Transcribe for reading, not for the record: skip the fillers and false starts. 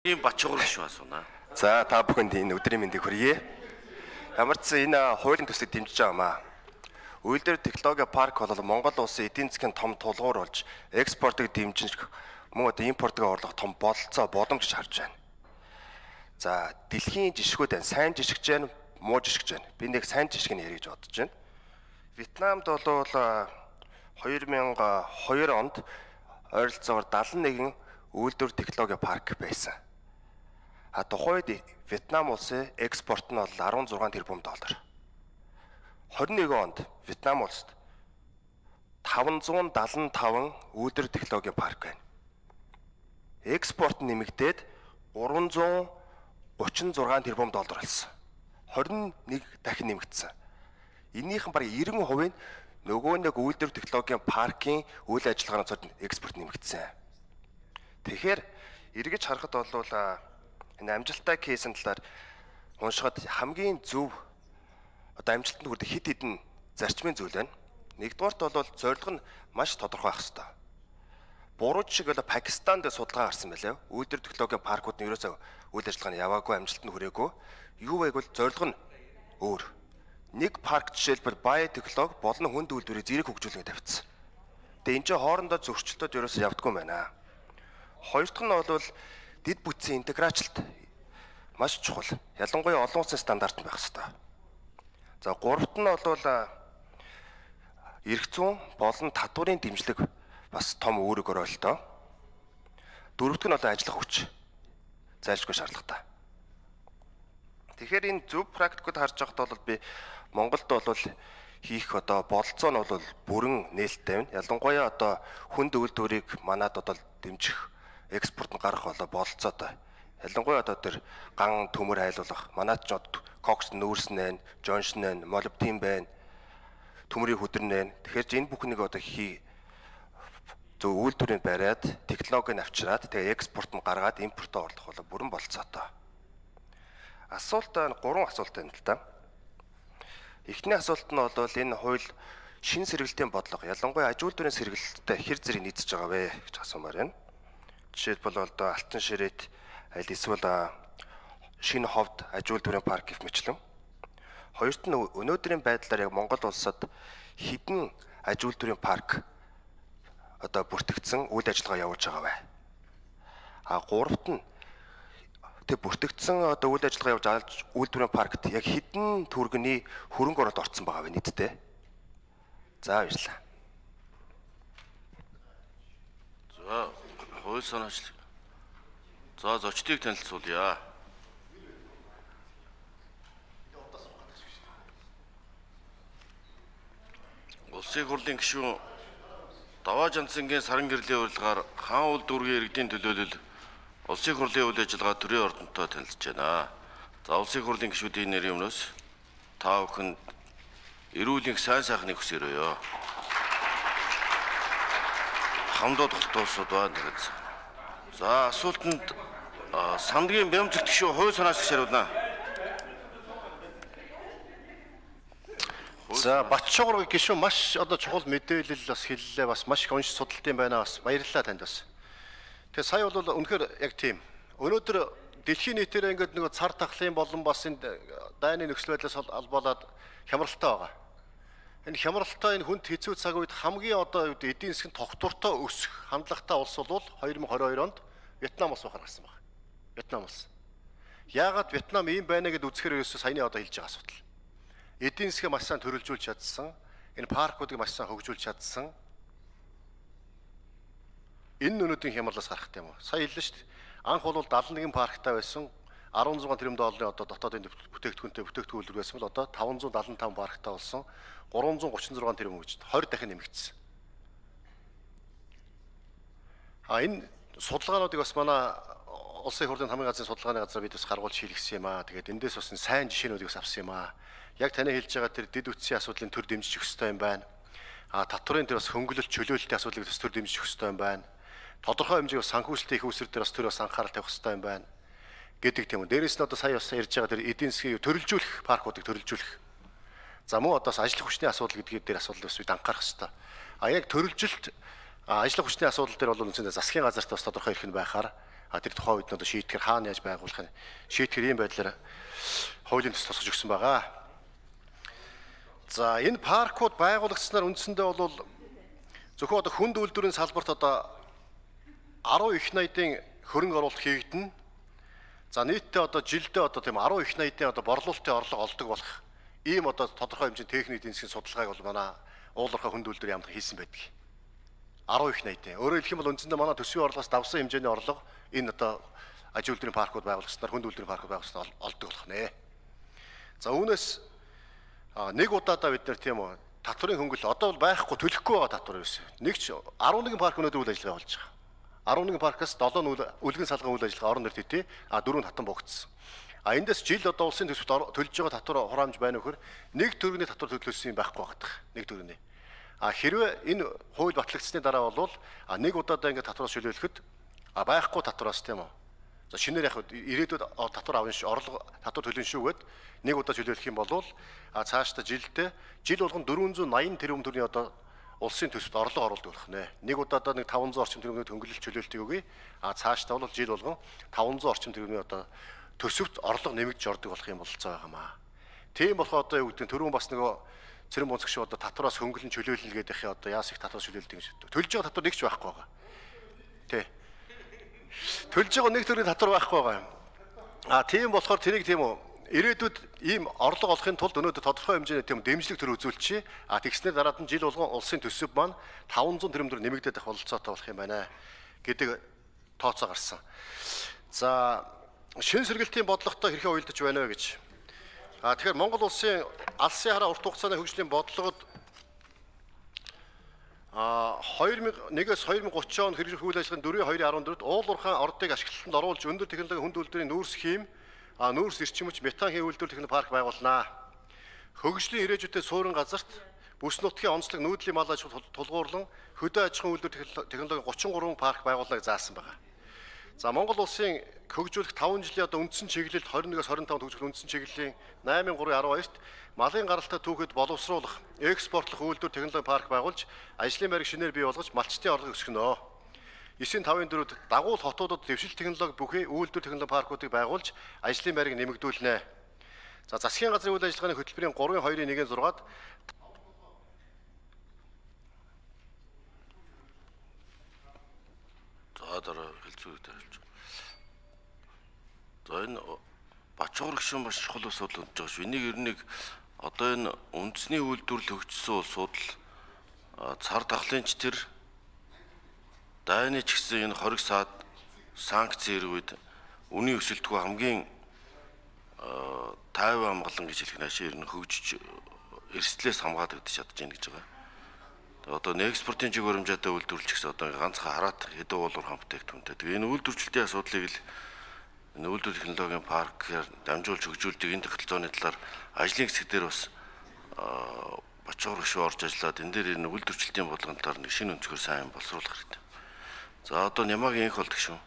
ийм бачуур шүү асууна. За та бүхэнд энэ өдрийн мэндийг хүргэе. Ямар ч энэ хуулийн төслийг дэмжиж байгаамаа. Үйлдвэр технологи парк бол Монгол улсын эдийн засгийн том тулгуур болж экспортыг дэмжих мөн одоо импортыг орлох том бололцоо боломж гэж харж байна. За дэлхийн жишгүүд байна. Сайн жишгэж байна, муу жишгэж байна. Би нэг сайн жишгийг ярих гэж бодож байна. Вьетнамд бол 2002 онд ойролцоогоор 71 үйлдвэр технологи парк байсан. Тухайд Вьетнам улсын экспорт нь бол 16 тэрбум доллар. 21 онд Вьетнам улсад 575 үйлдвэр технологи парк байна. Экспорт нэмэгдээд 336 тэрбум доллар болсон. 21 дахин нэмэгдсэн. Энийхэн бараг 90% нь нөгөө нэг үйлдвэр технологийн паркийн үйл ажиллагааны цод экспорт нэмэгдсэн. Тэгэхээр эргэж харахад бол энэ амжилттай кейсийн талаар уншихад хамгийн зөв одоо амжилтанд хүрэх хэд хэдэн зарчмын зүйл байна. Нэгдүгээрт бол зорилго нь маш тодорхой байх хэрэгтэй. Буруу жишг бол Пакистанд судалгаа гарсан байлаа. Үйлдвэр технологийн паркууд нь ерөөсөө үйл ажиллагааны яваагүй, амжилтанд хүрээгүй. Юу вэ гэвэл зорилго нь өөр. Нэг парк жишээлбэл бай технологи болон хүнд үйлдвэрийг зэрэг хөгжүүлэх тавьчихсан. Тэгээ энэ чинь хоорондоо зөрчилдөд ерөөсөө явдаггүй юм байна. Хоёр дахь нь бол дэд бүтцийн интеграцилт маш чухал. Ялангуяа олон улсын стандарт байх хэрэгтэй. За гуравт нь бол эрх зүйн болон татварын дэмжлэг бас том үүрэг оролтоо. Дөрөвт нь ажиллах хүч зайлшгүй шаардлагатай. Тэгэхээр энэ зөв практикууд харж байхад бол би Монголд бол хийх бололцоо нь бол бүрэн нээлттэй байна. Ялангуяа хүнд үйлдвэрийг манад дэмжих экспорт нь гарах бололцоотой. Ялангуяа тэр ган төмөр хайлуулах манад ч кокс нүүрс нэн, жоншн нэн, молибден байна. Төмрийн хөдөрн нэн. Тэгэхээр энэ бүхнийг зөв үйлдвэрийг бариад, технологиг авчираад тэгээ экспорт нь гаргаад импортоо орлох бүрэн бололцоотой. Асуулт 3 асуулт байна л да. Эхний асуулт нь бол энэ хууль шин сэргэлтийн бодлого ялангуяа аж үйлдвэрийн сэргэлттэй хэр зэрэг нийцэж байгаа вэ гэж асуумаар байна. Жишээлбэл Алтан ширээт аль эсвэл шинэ ховд аж үйлдвэрийн парк гэх мэтлэн. Хоёрт нь өнөөдрийн байдлаар яг Монгол улсад хэдэн аж үйлдвэрийн парк бүртгэгдсэн үйл ажиллагаа явуулж байгаа вэ? Гуравт нь тэг бүртгэгдсэн үйл ажиллагаа явуулж үйлдвэрийн паркт яг хэдэн төгрөгийн хөрөнгө оруулалт орсон байгаа вэ нийтдээ? За баярлалаа. За хууль санаачлал. За зочдыг танилцуулъя. Улсын хурлын гишүүн Даваа Жансангийн саран гэрлийн урилгаар хаан улс дүүргийн иргэдийн төлөөлөл улсын хурлын үйл ажиллагаа төрийн ордонтой танилцж байна. За улсын хурлын гишүүдийн нэрийн өмнөөс та бүхэнд эрүүл их сайн сайхныг хүсээрөөё. Хамдууд хөлтөөсөд байна гэж. За асуултанд Сандгийн Бямцэг гишүүн хууль санаачлах шаруулна. За Батшуур гишүүн маш чухал мэдээлэл бас хэллээ, бас маш их унш судалтын байна, бас баярлалаа танд бас. Тэгээ сая бол үнэхээр яг тийм. Өнөөдөр дэлхийн нийтээр ингээд нэг цар тахлын болон бас энэ дайны нөхцөл байдлаас албалаад хямралтай байгаа. Энэ хямралтай энэ хүнд хэцүү цаг үед хамгийн эдийн засгийн тогтвортой өсөх хандлагатай улс бол 2022 онд Вьетнам улс гаргасан байна. Вьетнам улс. Яагаад Вьетнам ийм байна гэдээ үзэхээр ерөөсөө саяны хэлж байгаа асуудал. Эдийн засгийг маш сайн төрөлжүүлж чадсан, энэ паркуудыг маш сайн хөгжүүлж чадсан. Энэ өнөөдрийн хямралаас гарах юм уу? Сая хэллээ шүү дээ. Анх бол 71 парктай байсан, 16 тэрбум долларын дотоодын бүтээгдэхүүн байсан бол 575 парктай болсон, 336 тэрбум гэж 20 дахин нэмэгдсэн. Энэ судалгаануудыг бас манай улсын хурлын хамгийн газрын судалгааны газар бид бас гаргуулж хийлгэсэн юм аа. Тэгээд эндээс бас сайн жишээнүүдийг бас авсан юм аа. Яг таны хэлж байгаа тэр дэд үтсийн асуудлын төр дэмжих ёстой юм байна. Татварын тэр бас хөнгөлөлт чөлөөлтийн асуудлыг бас төр дэмжих ёстой юм байна. Тодорхой хэмжээний санхүүжилтийн их үүсвэр дээр бас төр бас анхаарал тавих ёстой юм байна. Гэдэг тийм үү. Дээрээс нь сая бас ярьж байгаа тэр эдийн засгийг төрөлжүүлэх, паркуудыг төрөлжүүлэх. За мөн ажлах хүчний асуудал гэдгээр дээр асуудал бас бид анхаарах ёстой. Яг төрөлжилт ажлах хүчний асуудал дээр бол үндсэндээ засгийн газарт бас тодорхой эрх нь байхаар тэр тухайн үед одоо шийтгэр хаана яаж байгуулахыг шийтгэр ийм байдлаар хуулийн төс тусгаж өгсөн байгаа. За энэ паркууд байгуулагдсанаар үндсэндээ бол зөвхөн одоо хүнд үйлдвэрийн салбарт одоо 10 их найдын хөрөнгө оруулалт хийгдэнэ. За нийтдээ одоо жилдээ одоо тийм 10 их найдын одоо борлуулалтын орлого олдог болох ийм одоо тодорхой хэмжээний техник эдийн засгийн судалгааг бол манай уулуурхай хүнд үйлдвэрийн яамд хийсэн байдаг. 10 их найдын. Өөрөөр хэлэх юм бол үндсэндээ манай төсвийн орлогоос давсан хэмжээний орлого энэ одоо аж үйлдвэрийн паркууд байгуулагдсанаар хүнд үйлдвэрийн паркууд байгуулагдсанаар олдог болох нэ. За үүнээс нэг удаадаа бид нар тийм үү татварын хөнгөл одоо бол байхгүй төлөхгүй байгаа татвар байсан. Нэг ч 11 парк өнөөдөр үйл ажиллагаа болж байгаа. 11 паркаас 7 үлгэн салган үйл ажиллагаа орон нэр төдий 4 татан богдсон. Эндээс жил одоо улсын төсөвт төлж байгаа татвар хураамж байна вөхөр нэг төгрөгийн татвар төлөвлөсөн юм байхгүй багтах. Нэг төгрөгийн. Хэрвээ энэ хууль батлагдсны дараа бол нэг удаадаа ингээд татвараас чөлөөлөхөд байхгүй татвараас тийм үү. За шинээр яг ирээдүйд татвар авна шүү, орлого татвар төлнө шүүгээд нэг удаа чөлөөлөх юм бол цаашдаа жилдээ жил болгон 480 тэрбум төгрөгийн одоо улсын төсөвт орлого оруулдаг болох нэ. Нэг удаадаа нэг 500 орчим төгрөгийн хөнгөлөлт чөлөөлтийг өгье. Цаашдаа бол жил болгон 500 орчим төгрөгийн одоо төсөвт орлого нэмэгдэж ордог болох юм бололцоо байгаамаа. Тийм болохоор одоо юу гэдэг нь түрүүн бас нөгөө цэрэн бунцэг шиг одоо татвараас хөнгөлөн чөлөөлнө гэдэг их одоо яас их татвар чөлөөлдөг юм шиг. Төлж байгаа татвар нэг ч байхгүй байгаа. Тэ. Төлж байгаа нэг төрлийн татвар байхгүй байгаа. Тийм болохоор тэрийг тийм үү ирээдүйд ийм орлого олохын тулд өнөөдөр тодорхой хэмжээний тийм дэмжлэг төр үзүүлчихье. Тэгснээр дараад нь жил болгон улсын төсөв маань 500 тэрбум төгрөг нэмэгдээд байх бололцоотой болох юм байна гэдэг тооцоо гарсан. За шин сэргэлтийн бодлоготой хэрхэн уялдаж байна вэ гэж. Тэгэхээр Монгол улсын алсын хараа урт хугацааны хөгжлийн бодлогод 2001-ээс 2030 он хэрэгжих үйл ажиллагааны 4.2.14-д уулуурхай ордыг ашиглалтанд оруулж өндөр технологийн хүнд үйлдвэрийн нүүрс хим, нүүрс эрчимч, метан хий үйлдвэр техник парк байгуулнаа. Хөгжлийн ирээдүйтэй суурин газарт бүс нутгийн онцлог нүүдлийн мал аж ахуй тулгуурлан хөдөө аж ахуйн үйлдвэр технологийн 33 парк байгуулнаа гэж заасан байна. За Монгол улсын хөгжүүлэх 5 жилийн одоо үндсэн чиглэлд 21-с 25 хөгжих үндсэн чиглэлийн 8.3.12-т малын гаралтай түүхэд боловсруулах, экспортлох үйлдвэр технологийн парк байгуулж, ажлын байрыг шинээр бий болгож малчтын орлого өсгөнө. 9.5-4-д дагуул хотуудад дэвшил технологи бүхий үйлдвэр технологи паркуудыг байгуулж, ажлын байрыг нэмэгдүүлнэ. За засгийн газрын үйл ажиллагааны хөтөлбөрийн 3.2.1-6-д дараа хэлцүүртэй хэлж. За энэ Бачуур гишүүн маш чухал асуудал болж байгаа шүү. Энийг ер нь одоо энэ үндэсний үйлдвэрлэл хөгжсөн улсууд л цар тахлынч тэр дайны ч гэсэн энэ хориг саад санкц ирвэд үнийн өсөлтгүй хамгийн тайван амгалан гэж хэлэх наашаа ер нь хөгжиж эрсдлээс хамгаалагдаж чадж байна гэж байгаа. Одоо экспортын чиг баримжаатай үйлдвэрлэж гэсэн одоо ганцхан хараат хэдэн уулуур хамтдагтунтэй. Тэгээ энэ үйлдвэрчлэлтийн асуудлыг л энэ үйлдвэр технологийн паркээр дамжуулж хөгжүүлдэг энэ тогтолцооны талаар ажлын хэсэг дээр бас Бачуур гишүүн орж ажиллаад энэ дээр энэ үйлдвэрчлэлтийн бодлогын талаар нэг шинэ өнцгөр сайн боловсруулах хэрэгтэй. За одоо Нямагийн инх болдог шүү.